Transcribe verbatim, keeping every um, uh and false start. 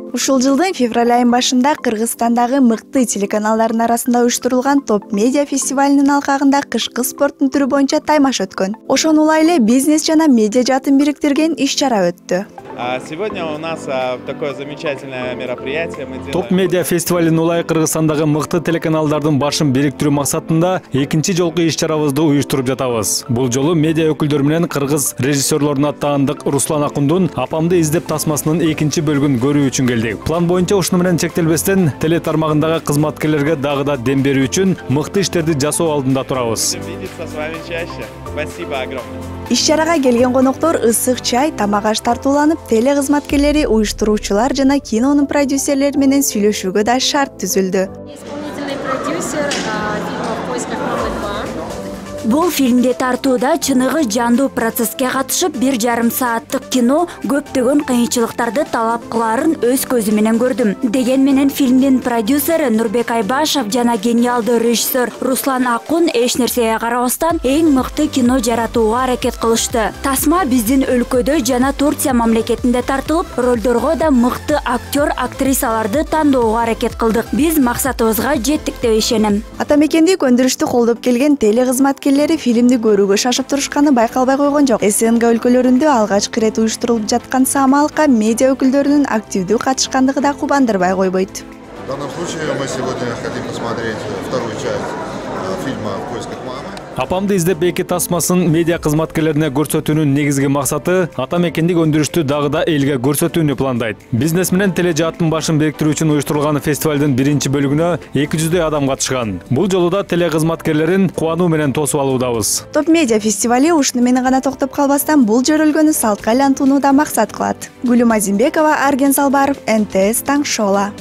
Ушул жылдын февраль айынын башында Кыргызстандагы мыкты телеканалдардын арасында уюштурулган Топ Медиа фестивалынын алкагында кышкы спорттун түрү боюнча таймаш өткөн. Ошону улай эле бизнес жана медиа жаатын бириктирген иш-чара өттү. Сегодня у нас такое замечательное мероприятие. Топ Медиа фестивалын улай Кыргызстандагы мыкты телеканалдардын башын бириктирүү максатында экинчи жолку иш-чарабызды уюштуруп жатабыз. Бул жолу медиа өкүлдөрү менен кыргыз режиссерлоруна таандык Руслан Акундун Апамды издеп тасмасынын экинчи бөлүгүн көрүү үчүн келдик. План боюнча ушуну менен чектелбестен теле тармагындагы кызматкерлерге дагы да дем берүү үчүн мыкты иштерди жасоо алдында турабыз. Спасибо огромное. Иш-чарага келген коноктор ысык чай, тамак аш тартууланып, теле кызматкерлери, уюштуруучулар жана кинонун продюсерлери менен сүйлөшүүгө да шарт түзүлдү. Исполнительный продюсер фильма «В поисках мамы два». Бул фильмде тартууда чыныгы жандуу процесске катышып, бир жарым сааттык кино көптөгөн кыйынчылыктарды талап кылаарын өз көзүм менен көрдүм. Деген менен фильмдин продюсери Нурбек Айбашев жана гениалдуу режиссер Руслан Акун эч нерсеге карабастан эң мыкты кино жаратууга аракет кылышты. Тасма биздин өлкөдө жана Турция мамлекетинде тартылып, ролдорго да мыкты актер, актрисаларды тандоого аракет кылдык. Биз максатыбызга жеттик деп ишенем. Ата мекендик өндүрүштү колдоп келген теле кызматкерлери фильмди көрүүгө шашып турушканы байкалбай койгон жок. СНГ өлкөлөрүндө алгачкы ирет уюштурулуп жаткан самалыкка медиа өкүлдөрүнүн активдүү катышкандыгы да кубандырбай койбойт. В данном случае мы сегодня хотим посмотреть вторую часть фильма «В поисках мамы». Апамды издеп эки тасмасын медиа кызматкерлерине көрсөтүүнүн негизги максаты ата мекендик өндүрүштү дагы да элге көрсөтүүнү пландайт. Бизнес менен теле жааттын башын бириктирүү үчүн уюштурулган фестивалдын биринчи бөлүгүнө эки жүздөй адам катышкан. Бул жолу да теле кызматкерлерин кубануу менен тосуп алуудабыз. Топ Медиа фестивали ушуну менен гана токтоп калбастан бул жөрөлгөнү салтка айлантууну да максат кылат. Гүлүм Азимбекова, Арген Салбаров, эн тэ эс Таң Шола.